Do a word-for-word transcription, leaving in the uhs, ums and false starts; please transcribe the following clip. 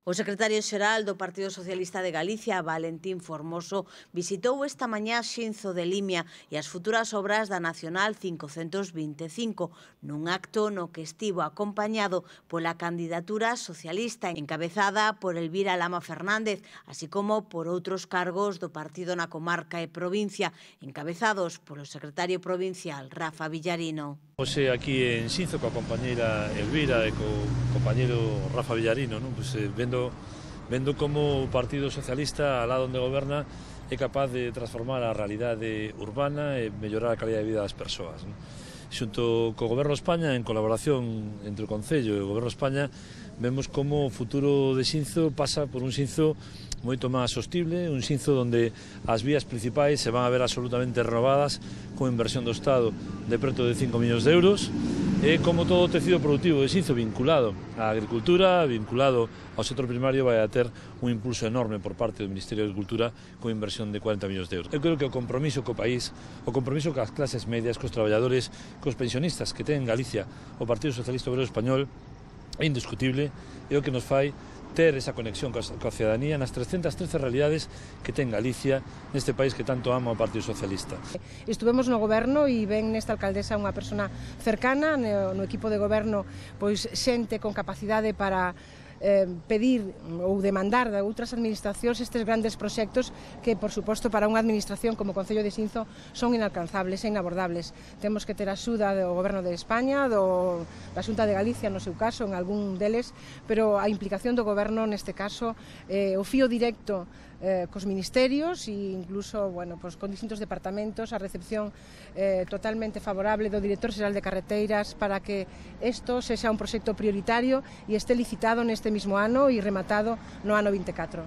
O secretario xeral do Partido Socialista de Galicia, Valentín Formoso, visitou esta mañá Xinzo de Limia e as futuras obras da Nacional cincocentos vinte e cinco, nun acto no que estivo acompañado pola candidatura socialista encabezada por Elvira Lama Fernández, así como por outros cargos do partido na comarca e provincia, encabezados polo secretario provincial, Rafa Villarino. Hoxe aquí en Xinzo coa compañeira Elvira e co compañeiro Rafa Villarino, non? Pues, eh, vendo, vendo como o Partido Socialista, alá onde goberna, é capaz de transformar a realidade urbana e mellorar a calidad de vida das persoas, non? Xunto co Goberno de España, en colaboración entre o Concello e o Goberno de España, vemos como o futuro de Xinzo pasa por un Xinzo moito máis sostible, un Xinzo onde as vías principais se van a ver absolutamente renovadas con inversión do Estado de preto de cinco millóns de euros e como todo o tecido productivo de Xinzo vinculado á agricultura, vinculado ao sector primario, vai a ter un impulso enorme por parte do Ministerio de Agricultura con inversión de cuarenta millóns de euros. Eu creo que o compromiso co país, o compromiso coas clases medias, cos traballadores, cos pensionistas que ten en Galicia o Partido Socialista Obrero Español é indiscutible e o que nos fai ter esa conexión coa cidadanía nas trescentas trece realidades que ten Galicia neste país que tanto ama o Partido Socialista. Estuvemos no goberno e ven nesta alcaldesa unha persona cercana no, no equipo de goberno, pois xente con capacidade para eh, pedir ou demandar de outras administracións estes grandes proxectos que, por suposto, para unha administración como o Concello de Xinzo son inalcanzables e inabordables. Temos que ter a axuda do Goberno de España, do, da Xunta de Galicia, no seu caso, en algún deles, pero a implicación do Goberno neste caso, eh, o fío directo eh, cos ministerios e incluso, bueno, pues, con distintos departamentos, a recepción eh, totalmente favorable do Director Xeral de Carreteiras para que isto sexa un proxecto prioritario e este licitado neste mismo ano e rematado no ano vinte e catro.